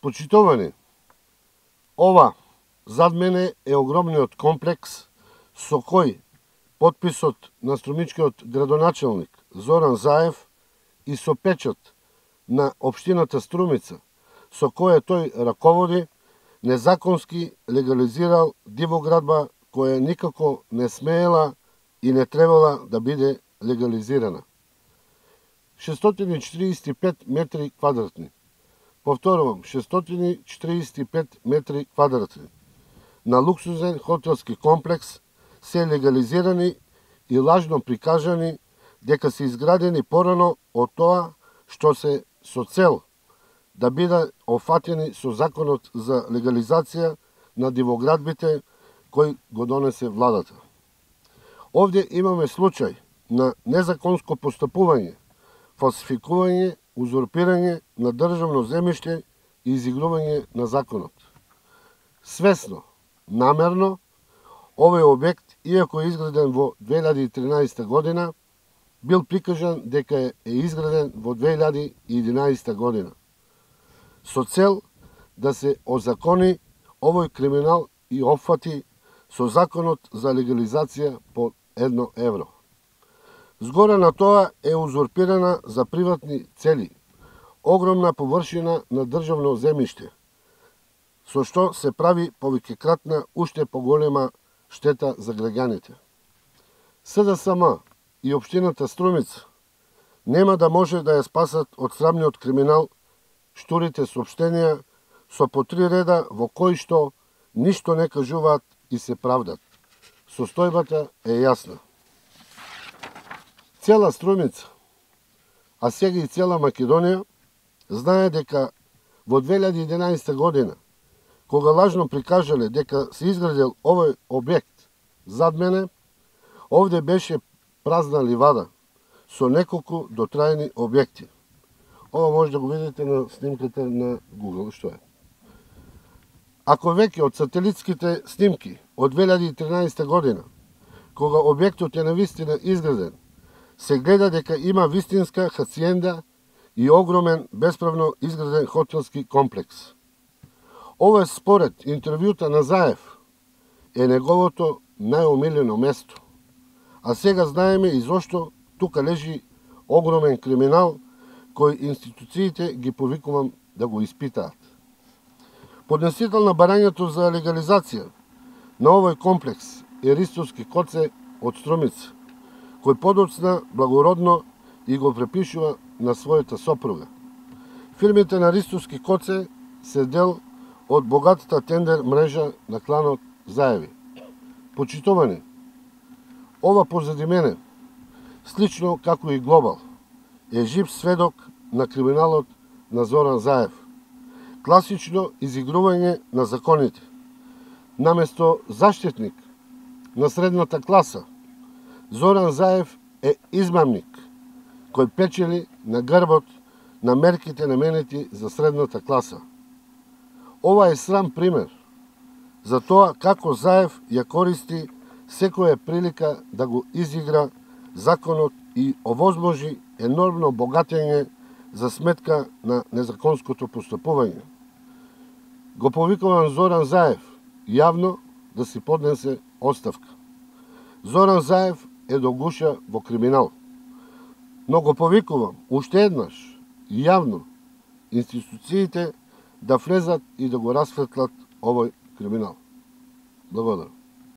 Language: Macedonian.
Почитувани, ова зад мене е огромниот комплекс со кој потписот на струмичкиот градоначелник Зоран Заев и со печат на општината Струмица, со која тој раководи, незаконски легализирал дивоградба која никако не смеела и не требала да биде легализирана. 645 метри квадратни. Повторувам, 645 метри квадратни на луксузен хотелски комплекс се легализирани и лажно прикажани дека се изградени порано од тоа што се со цел да бидат офатени со законот за легализација на дивоградбите кој го донесе владата. Овде имаме случај на незаконско постапување, фалсификување, узурпирање на државно земјиште и изигрување на законот. Свесно, намерно, овој објект, иако е изграден во 2013 година, бил прикажан дека е изграден во 2011 година, со цел да се озакони овој криминал и опфати со законот за легализација по 1 евро. Згора на тоа е узурпирана за приватни цели огромна површина на државно земјиште, со што се прави повеќекратна уште поголема штета за граѓаните. СДСМ и општината Струмица нема да може да ја спасат од срамниот криминал штурите соопштенија со по 3 реда во кои што ништо не кажуваат и се правдат. Состојбата е јасна. Цела Струмица, а сега и цела Македонија, знае дека во 2011 година, кога лажно прикажале дека се изградил овој објект зад мене, овде беше празна ливада со неколку дотраени објекти. Ова може да го видите на снимката на Google, што е. Ако веќе од сателитските снимки од 2013 година, кога објектот е навистина изграден, се гледа дека има вистинска хациенда и огромен бесправно изграден хотелски комплекс. Ова според интервјута на Заев е неговото најомилено место. А сега знаеме и зошто тука лежи огромен криминал кој институциите ги повикувам да го испитаат. Поднесител на барањето за легализација на овој комплекс е Ристовски Коце од Струмица, кој подоцна благородно и го препишува на својата сопруга. Фирмите на Ристовски Коце се дел од богатата тендер мрежа на кланот Заеви. Почитувани, ова позади мене, слично како и Глобал, е жив сведок на криминалот на Зоран Заев. Класично изигрување на законите. Наместо заштитник на средната класа, Зоран Заев е измамник, кој печели на грбот на мерките наменети за средната класа. Ова е срам пример за тоа како Заев ја користи секоја прилика да го изигра законот и овозможи енормно богатење за сметка на незаконското постапување. Го повикувам Зоран Заев јавно да си поднесе оставка. Зоран Заев е до гуша во криминал. Но го повикувам уште еднаш јавно институциите да влезат и да го расветлат овој криминал. Благодарам.